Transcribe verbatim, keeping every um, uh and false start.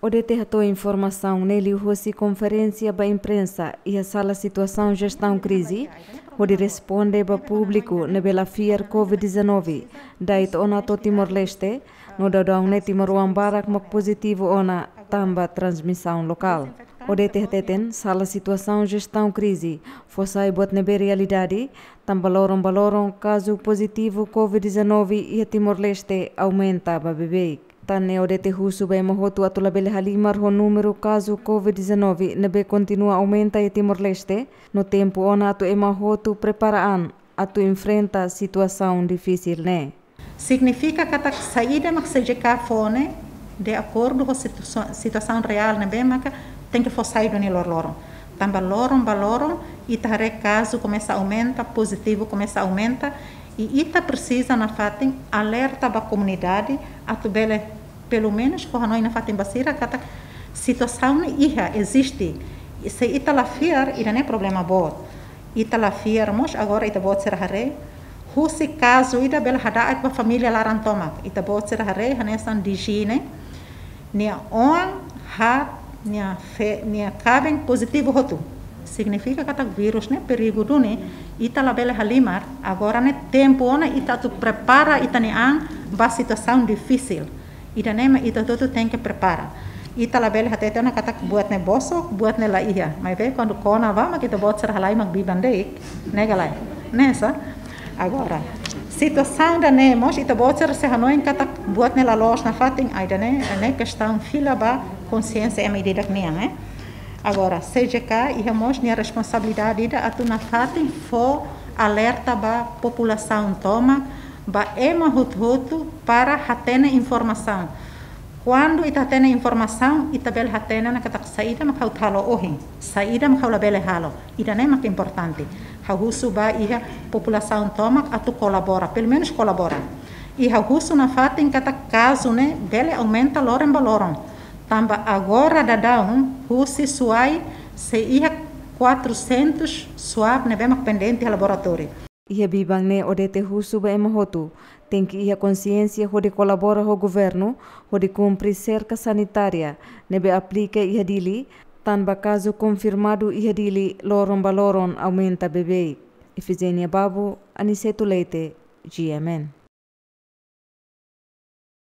O D T hato'o informasaun ne'e liuhosi konferénsia ba imprensa iha sala situasaun jestaun krize, hodi responde ba públiku ne'ebé la fiar covid dezanove, da'et ona to'o Timor-Leste, no daudaun ne'e timoroan barak mak pozitivu ona tanba transmisaun lokál. O D T hateten sala situasaun jestaun krize fó sai buat ne'ebé realidade, tanba loron ba loron kazu pozitivu covid dezanove iha Timor-Leste aumenta ba beibeik. Tan ne'e O D T husu ba ema hotu atu labele halimar ho númeru kazu covid dezanove ne'ebé kontinua aumenta iha Timor-Leste, no tempu ona atu ema hotu prepara an atu enfrenta situasaun difisil ne'e. Signifika katak saida mak C J K fó ne'e de akordu ho situa-, situasaun reál ne'ebé maka tenke fó sai duni loroloron. Tanba loron ba loron, ita haree kazu komesa aumenta, pozitivu komesa aumenta, i ita presiza nafatin alerta ba komunidade atu bele, pelumenus, fó hanoin nafatin ba sira katak situasaun ne'e iha, eziste. I se ita la fiar, ida-ne'e problema boot. Ita la fiar mós, agora ita-boot sira haree, husi kazu ida bele hada'et ba família laran tomak. Ita-boot sira haree, hanesan D G ne'e, nia oan, haat, nia fe-, nia kaben pozitivu hotu. Signifika katak vírus ne'e perigu duni, ita labele halimar, agora ne'e tempu ona ita atu prepara ita-nia an ba situasaun difisil. Ida-ne'e mak ita hotu tenke prepara. Ita labele hatete ona katak buat ne'e bosok, buat ne'e la iha. Maibé kuandu kona bá mak ita-boot sira halai mak biban de'it, ne'e ka lae? Ne'e sá? Agora, situasaun ida-ne'e mós ita-boot sira sei hanoin katak buat ne'e la loos nafatin, ah, ida-ne'e, ne'e kestaun fila ba konsiénsia ema ida-idak nian, eh? Agora, C J K iha mós nia responsabilidade ida atu nafatin fó alerta ba populasaun tomak, ba ema hotu-hotu para hatene informasaun. Kuandu ita hatene informasaun, ita bele hatene ona katak saida mak ha'u halo ohin, saida mak ha'u labele halo. Ida-ne'e mak importante. Ha'u husu ba iha populasaun tomak atu kolabora, pelumenus kolabora. I ha'u husu nafatin katak kazu ne'e bele aumenta loron ba loron. Tanba agora daudaun husi Suai sei iha quatrocentos swab ne'ebé mak pendente iha laboratóriu. Iha biban ne'e O D T husu ba ema hotu tenke iha konsiénsia hodi kolabora ho governu, hodi kumpre serka sanitária ne'ebé aplika iha Dili, tanba kazu konfirmadu iha Dili loron ba loron aumenta beibeik. Efigénia Babu, Aniceto Leite, G M N.